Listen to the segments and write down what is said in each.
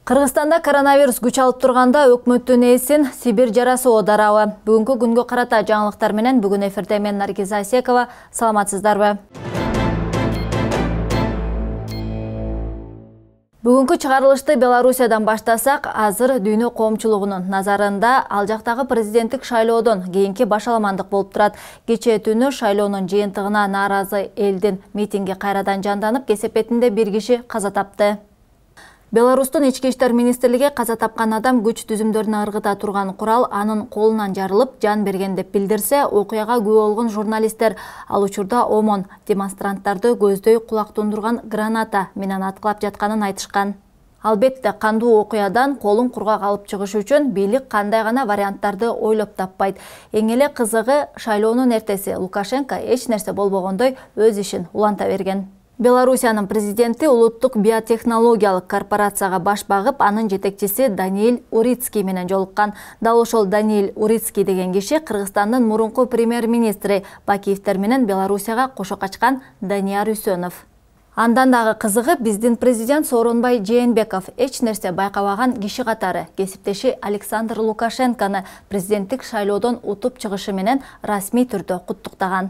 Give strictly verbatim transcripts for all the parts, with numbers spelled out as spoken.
Кыргызстанда коронавирус күч алып турганда өкмөттүн ээсин Сибир жарасы оодарабы? Бүгүнкү күнгө карата жаңылыктар менен бүгүн эфирде мен Наргиза Асекова. Саламатсыздарбы? Бүгүнкү чыгарылышты Белоруссиядан баштасак, азыр дүйнө коомчулугунун назарында ал жактагы президенттик шайлоодон кийинки башаламандык болуп турат. Кечээ түнү шайлоонун жыйынтыгына нааразы элдин митинги кайрадан жанданып, кесепетинде бир киши каза тапты. Беларустун ички иштер министрлиги каза тапкан адам күч түзүмдөрүнө ыргыта турган курал анын колунан жарылып, жан берген деп билдирсе, окуяга күбө болгон журналисттер ал учурда омон демонстранттарды көздөй кулак тундурган граната менен аткылап жатканын айтышкан. Албетте, кандуу окуядан колун кургак алып чыгыш үчүн бийлик кандай гана варианттарды ойлоп таппайт. Эң эле кызыгы, шайлоонун эртеси Лукашенко эч нерсе болбогондой өз ишин уланта берген. Белоруссиянын президенти улуттук биотехнологиялык корпорацияга баш багып, анын жетекчиси Даниэль Урицкий менен жолуккан. Дал ошол Даниэль Урицкий деген киши Кыргызстандын мурунку премьер-министри Бакиевтер менен Белоруссияга кошо качкан Данияр Үсөнов. Андан дагы кызыгы, биздин президент Сооронбай Жээнбеков эч нерсе байкабаган киши катары кесиптеши Александр Лукашенкону президенттик шайлоодон утуп чыгышы менен расмий түрдө куттуктаган.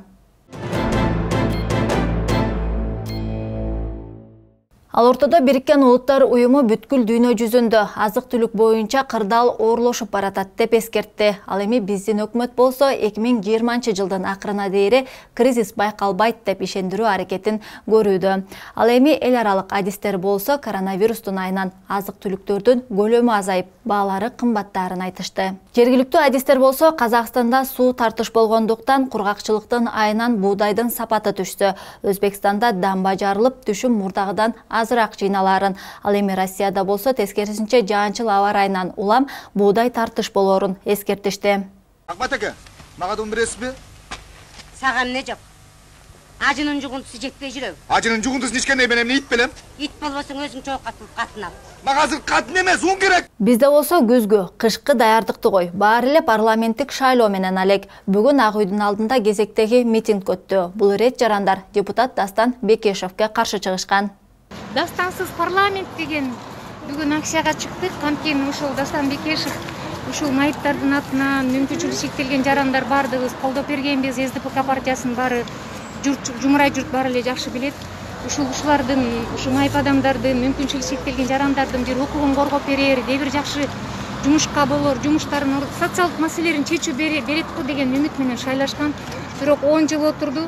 Ал ортодо Бириккен Улуттар уюму бүткүл дүйнө жүзүндө азык-түлүк боюнча кырдаал оорлошуп баратат деп эскертти. Ал эми биздин өкмөт болсо эки миң жыйырманчы жылдын акырына дейре кризис байкалбайт деп ишендирүү аракетин көрүүдө. Ал эми эл аралык адистер болсо коронавирустун айынан азык-түлүктөрдүн көлөмү азайып, баалары кымбаттаарын айтышты. Жергиликтүү адистер болсо Казакстанда суу тартыш болгондуктан кургакчылыктын айынан буудайдын сапаты түштү. Өзбекстанда дамба жарылып, түшүм мурдагыдан азыраак жыйналарын. Ал эми Россияда болсо тескерисинче жаанчыл аба ырайынан улам буудай тартыш болоорун эскертишти. Акмат ака, мага да бересизби? Сага эмне жок? Ажынын жугунтусу жетпей жүрөбү? Ажынын жугунтусун ичкенде мен эмне ит белем? Ит болбосоң өзүң чоок катын ал. Мага азыр катын эмес, ун керек. Бизде болсо күзгү, кышкы даярдыкты кой. Баары эле парламенттик шайлоо менен алек. Бүгүн Ак үйдүн алдында кезектеги митинг өттү. Бул ирет жарандар депутат Дастан Бекешевке каршы чыгышкан. Дастансыз парламент деген бүгүн акцияга чыктык. Анткени ушул Дастан Бекешев ушул майыптардын атынан мүмкүнчүлүгү чектелген жарандар баардыгыбыз колдоп бергенбиз. эс дэ пэ ка партиясынын баары журт, жумурай журт баары эле жакшы билет. Ушул ушулардын, ушу майып адамдардын, мүмкүнчүлүгү чектелген жарандардын бир укугун коргоп берер, де бир жакшы жумушка болор, жумуштарын, социалдык маселелерин чечүү берет го деген үмүт менен шайлашкан. Бирок он жыл отурду.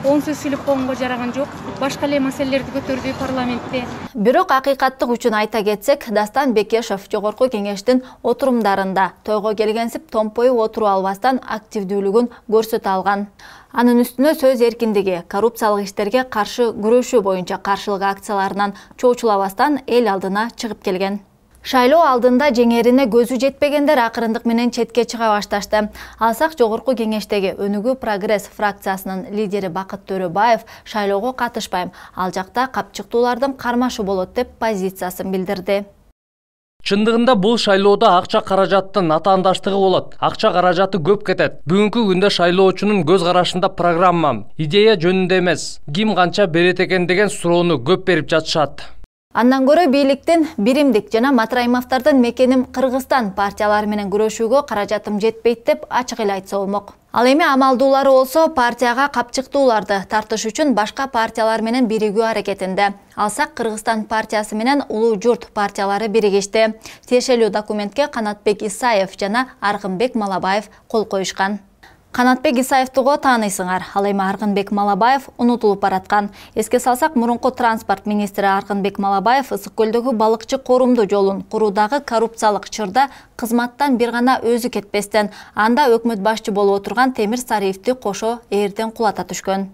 он сөз сүйлөп койгонго жараган жок. Башка эле маселелерди көтөрдү парламентте. Бирок акыйкаттык үчүн айта кетсек, Дастан Бекешев жогорку кеңештин отурумдарында тойго келгенсип томпоюп отуруп албастан активдүүлүгүн көрсөтө алган. Анын үстүнө сөз эркиндиги, коррупциялык иштерге каршы күрөшүү боюнча каршылык акцияларынан чоочулабастан эл алдына чыгып келген. Шайлоо алдында жеңерине көзү жетпегендер акырындык менен четке чыга башташты. Алсак жогорку кеңештеги Өнүгүү Прогресс фракциясынын лидери Бакыт Төрөбаев шайлоого катышпайм, ал жакта капчыктуулардын кармашы болот деп позициясын билдирди. Чындыгында бул шайлоодо акча каражаттын атаандаштыгы болот. Акча каражаты көп кетет. Бүгүнкү күндө шайлоочунун көз карашында программа, идея жөнүндө эмес, ким канча берет экен деген суроону көп берип жатышат. Андан көрө бийликтин Биримдик жана Матраимовдордун мекеним Кыргызстан партиялары менен күрөшүүгө каражатым жетпейт деп ачык эле айтса болмок. Ал эми амалдуулары болсо партияга капчыктууларды тартыш үчүн башка партиялар менен биригүү аракетинде. Алсак Кыргызстан партиясы менен Улуу Журт партиялары биригишти. Тиешелүү документке Канатбек Исаев жана Аргынбек Малабаев кол коюшкан. Канатбек Исаевтыго тааныйсыңар, ал эми Аргынбек Малабаев унутулуп бараткан. Эске салсак, мурунку транспорт министри Аргынбек Малабаев Ысык көлдөгү балыкчы корумду жолун куруудагы коррупциялык чырда кызматтан бир гана өзү кетпестен, анда өкмөт башчы болуп отурган Темир Сариевди кошо ээрден кулата түшкөн.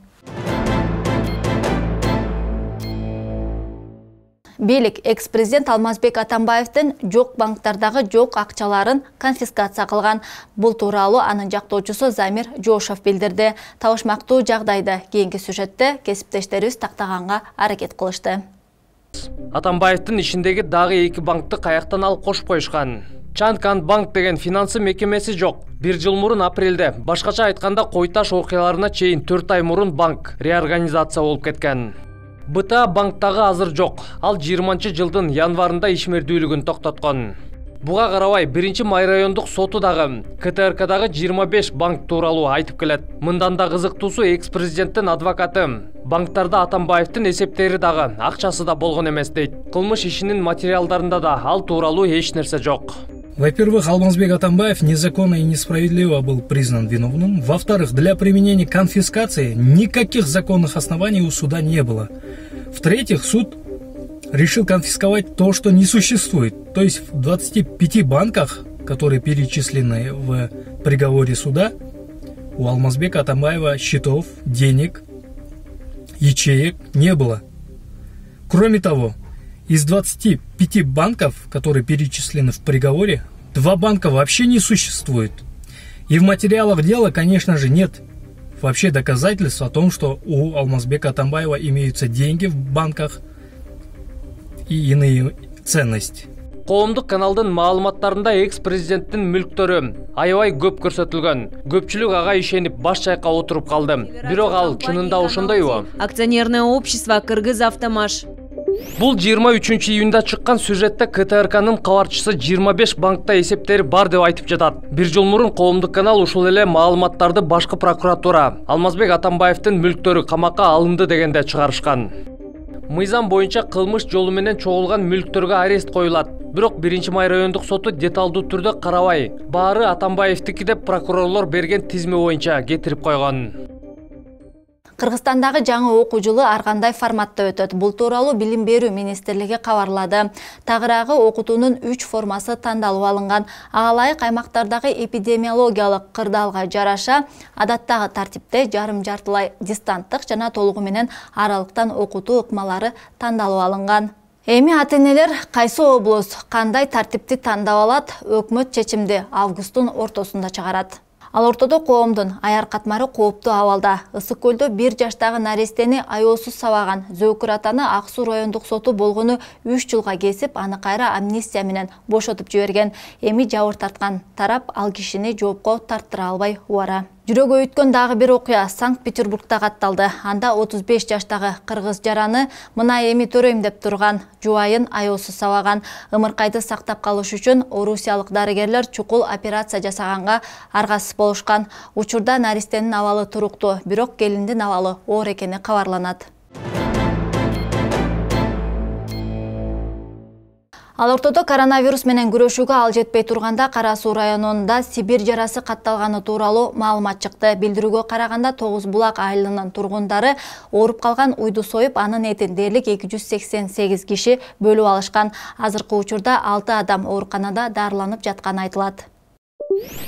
Бийлик экс-президент Алмазбек Атамбаевдин жок банктардагы жок акчаларын конфискация кылган. Бул тууралуу анын жактоочусу Замир Жошов билдирди. Табышмактуу жагдайды кийинки сюжетте кесиптештерибиз тактаганга аракет кылышты. Атамбаевдин ишиндеги дагы эки банкты каяктан алып кошуп коюшкан. Чанкан банк деген финансы мекемеси жок. Бир жыл мурун апрелде, башкача айтканда Кой Таш окуяларына чейин төрт ай мурун банк реорганизация болуп кеткен. бэ тэ а банктагы азыр жок. Ал жыйырманчы жылдын январында ишмердүүлүгүн токтоткон. Буга карабай биринчи май райондук соту дагы ка тэ эр кадагы жыйырма беш банк тууралуу айтып келет. Мындан да кызыктуусу экс-президенттин адвокаты банктарда Атамбаевдин эсептери дагы акчасы да болгон эмес дейт. Кылмыш ишинин материалдарында да ал тууралуу эч нерсе жок. Во-первых, Алмазбек Атамбаев незаконно и несправедливо был признан виновным. Во-вторых, для применения конфискации никаких законных оснований у суда не было. В-третьих, суд решил конфисковать то, что не существует. То есть в двадцати пяти банках, которые перечислены в приговоре суда, у Алмазбека Атамбаева счетов, денег, ячеек не было. Кроме того, из двадцати пяти банков, которые перечислены в приговоре, два банка вообще не существует. И в материалах дела, конечно же, нет вообще доказательств о том, что у Алмазбека Атамбаева имеются деньги в банках и иные ценности. Коомдук каналдын маалыматтарында экс-президенттин мүлктөрү аябай көп көрсөтүлгөн. Көпчүлүк ага ишенип баш чайкап отуруп калды. Бирок ал чынында ошондойбу? Акционерное общество Кыргызавтомаш. Бул жыйырма үчүнчү июнда чыккан сюжетте ка тэ эр канын кабарчысы жыйырма беш банкта эсептери бар деп айтып жатат. Бир жыл мурун коомдук канал ушул эле маалыматтарды башкы прокуратура Алмазбек Атамбаевдин мүлктөрү камакка алынды дегенде чыгарышкан. Мыйзам боюнча кылмыш жолу менен чогулган мүлктөргө арест коюлат. Бирок биринчи май райондук соту деталдуу түрдө карабай, баары Атамбаевдики деп прокурорлор берген тизме боюнча кетирип койгон. Кыргызстандагы жаңы окуу жылы ар кандай форматта өтөт. Бул тууралуу Билим берүү министрлиги кабарлады. Тагыраагы окутуунун үч формасы тандалып алынган. Ага ылайык аймактардагы эпидемиологиялык кырдаалга жараша адаттагы тартипте жарым жартылай дистанттык жана толугу менен аралыктан окутуу ыкмалары тандалып алынган. Эми ата-энелер кайсы облус кандай тартипти тандап алат, өкмөт чечимди августтун ортосунда чыгарат. Ал ортодо коомдун аяр катмары кооптуу абалда. Ысык көлдө бир жаштагы нарестени аяосуз сабаган Зөкүр атаны Ак Суу райондук соту болгону үч жылга кесип, аны кайра амнистия менен бошотуп жиберген. Эми жабыр тарткан тарап ал кишини жоопко тарттыра албай убара. Жүрөгү өткөн дагы бир окуя Санкт-Петербургда катталды. Анда отуз беш жаштагы кыргыз жараны мына эми төрөйм деп турган жубайын аяосуз сабаган. Ымыркайды сактап калыш үчүн орусиялык дарыгерлер чукул операция жасаганга аргасыз болушкан. Учурда наристенин абалы туруктуу, бирок келиндин абалы оор экени кабарланат. Ал ортодо коронавирус менен күрөшүүгө ал жетпей турганда Кара Суу районунда Сибирь жарасы катталганы тууралуу маалымат чыкты. Билдирүүгө караганда Тогуз Булак айылынын тургундары ооруп калган уйду союп, анын этин дээрлик эки жүз сексен сегиз киши бөлүп алышкан. Азыркы учурда алты адам ооруканада дарыланып жатканы айтылат.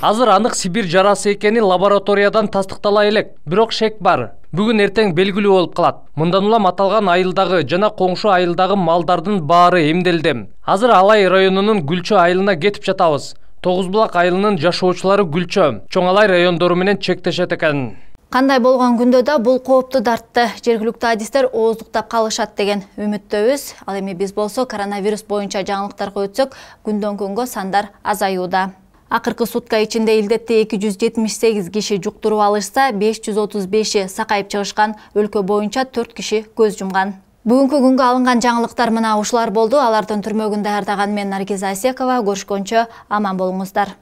Азыр анык Сибирь жарасы экени лабораториядан тастыктала элек, бирок шек бар. Бүгүн эртең белгилүү болуп калат. Мындан улам аталган айылдагы жана коңшу айылдагы малдардын баары эмделди. Азыр Алай районунун Гүлчө айылына кетип жатабыз. Тогуз Булак айылынын жашоочулары Гүлчө, Чоң Алай райондору менен чектешет экен. Кандай болгон күндө да бул коопту дартты жергиликтүү адистер ооздуктап калышат деген үмүттөбүз. Ал эми биз болсо коронавирус боюнча жаңылыктарга өтсөк, күндөн күнгө сандар азаюуда. Акыркы сутка ичинде илдетти эки жүз жетимиш сегиз киши жуктуруп алышса, беш жүз отуз беши сакайып чыгышкан. Өлкө боюнча төрт киши көз жумган. Бүгүнкү күнгө алынган жаңылыктар мына ушулар болду. Алардын түрмөгүн даярдаган мен Наргиза Асекова. Көрүшкөнчө аман болуңуздар.